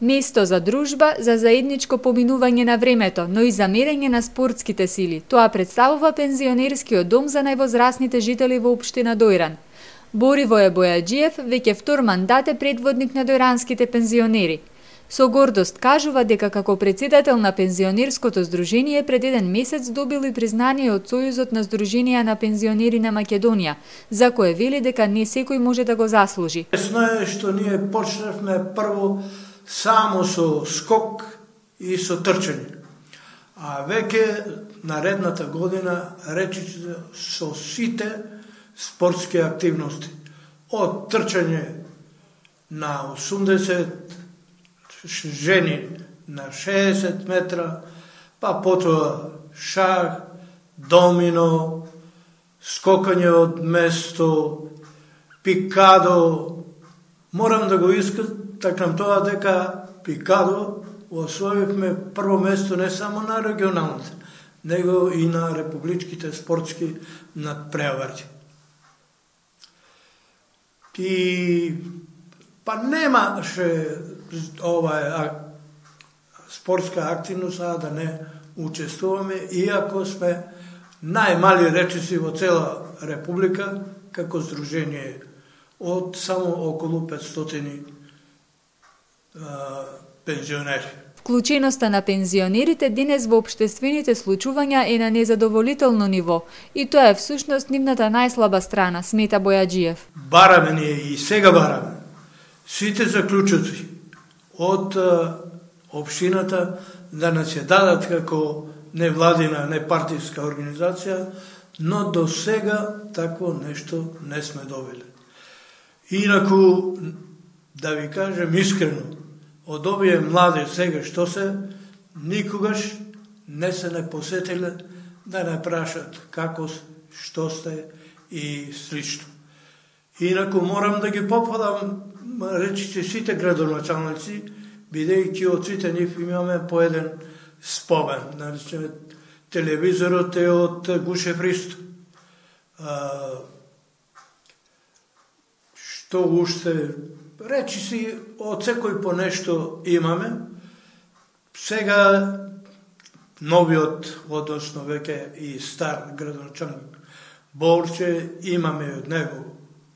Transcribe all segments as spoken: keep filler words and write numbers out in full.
Место за дружба, за заедничко поминување на времето, но и за мерење на спортските сили. Тоа представува пензионерскиот дом за највозрасните жители во општина Дојран. Боривој Бојаджиев веќе втор мандат е предводник на дојранските пензионери. Со гордост кажува дека како председател на пензионерското здружение пред еден месец добил и признание од Сојузот на здруженија на пензионери на Македонија, за кое вели дека не секој може да го заслужи. Лесно е што ние почнавме прво само со скок и со трчање. А веќе наредната година речи со сите спортски активности. Од трчање на осумдесет жени на шеесет метра, па потоа шах, домино, скокање од место, пикадо. Морам да го истакнам тоа дека пикадо освоивме прво место не само на регионалните, него и на републичките спортски надпревари. И па немаше ова спортска активност, а да не учествуваме, иако сме најмали речиси во цела република, како здружение од само околу петстотини а, пензионери. Вклученоста на пензионерите денес во општествените случувања е на незадоволително ниво и тоа е всушност нивната најслаба страна, смета Бојаджиев. Бараме ние и сега бараме сите заклучоци од општината да не се дадат како невладина, непартиска организација, но до сега такво нешто не сме добили. Инаку, да ви кажем искрено, од овие млади сега што се, никогаш не се не посетиле да не прашат како, што сте и слично. Инаку морам да ги попадам, речите сите градоначалници, бидејќи од сите нив имаме по еден спомен. Наречеме, телевизорот е од Гуше Христо. Што уште, речи си, од секој по нешто имаме. Сега новиот, односно веќе и стар градоначалник Борче, имаме од него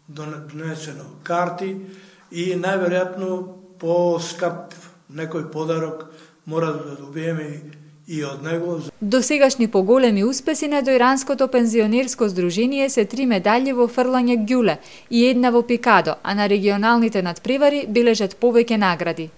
донесено карти и најверојатно по-скап некој подарок мора да добиеме и од него. Досегашни поголеми успеси на Дојранското пензионерско здружение се три медали во фрлање ѓуле и една во пикадо, а на регионалните надпревари бележат повеќе награди.